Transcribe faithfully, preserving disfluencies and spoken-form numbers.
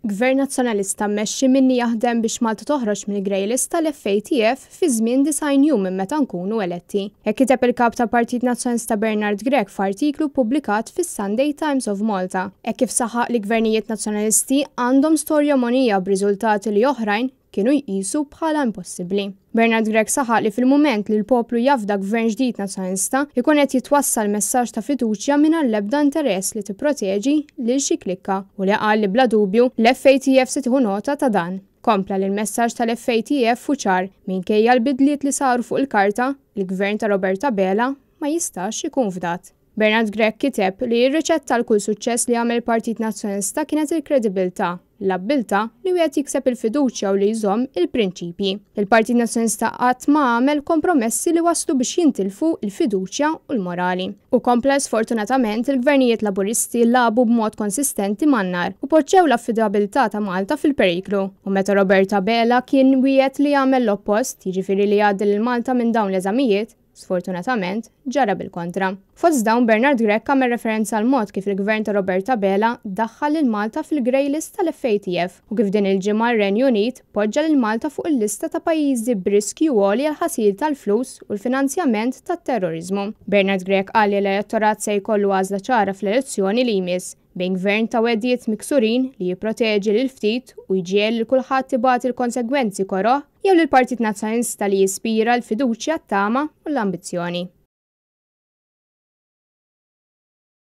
Gvern Nazzjonalista mmexxi minni jaħdem biex Malta toħroġ mill-grey list tal-F A T F fi żmien disgħin jum minn meta nkunu eletti. Hekk kiteb il-kap tal-Partit Nazzjonalista Bernard Grech f'artiklu ppubblikat fis-Sunday Times of Malta. Hekk kif saħaq li gvernijiet nazzjonalisti għandhom storja mogħnija b'riżultati li oħrajn kienu jqisu bħala impossibbli. Bernard Grech saħaq li fil-mument li l-poplu jafda gvern ġdid nazzjonalista, ikun qed jitwassal messaġġ ta' fiduċja mingħajr l-ebda interess li tipproteġi lil xi klikka u li qal li bla dubju l-F A T F se tieħu nota ta' dan. Kompla li l-messaġġ tal-F A T F hu ċar: minkejja l-bidliet li saru fuq il-karta, il-gvern ta' Robert Abela ma jistax ikun fdat. Bernard Grech kiteb li r-riċetta għal kull suċċess li għamel Partit Nazzjonalista kienet il-kredibilità, l-abbiltà li wieħed jikseb il-fiduċja u li jżomm il-prinċipji. Il-Partit Nazzjonalista qatt ma għamel kompromessi li waslu biex jintilfu il-fiduċja u l-morali. U kompla sfortunatament il-gvernijiet Laburisti lagħbu b'mod konsistenti man-nar u poġġew l-affidabilità ta' Malta fil-periklu. U meta Robert Abela kien wieħed li jagħmel l-oppost, jiġifieri li jgħaddi lil Malta minn dawn l-eżamijiet, sfortunatament, ġara bil-kontra. Fost dawn, Bernard Grech għamel referenza għal mod kif il-gvern ta' Robert Abela daħħal lil Malta fil-grey list tal-F A T F u kif din il-ġimgħa r-Renju Unit poġġa lil Malta fuq il-lista ta' pajjiżi b'riskju għoli għal ħasil tal-flus u l-finanzjament tat-terrorizmu. Bernard Grech qal li l-elettorat se jkollu għażla ċara fl-elezzjoni li jmiss bejn gvern ta' wegħdiet miksurin li jipproteġi lil ftit u jġiegħel lil kulħadd ibati l-konsegwenzi koroh, jew lill Partit Nazzjonalista li jispira l-fiduċja, t-tama u l-ambizzjoni.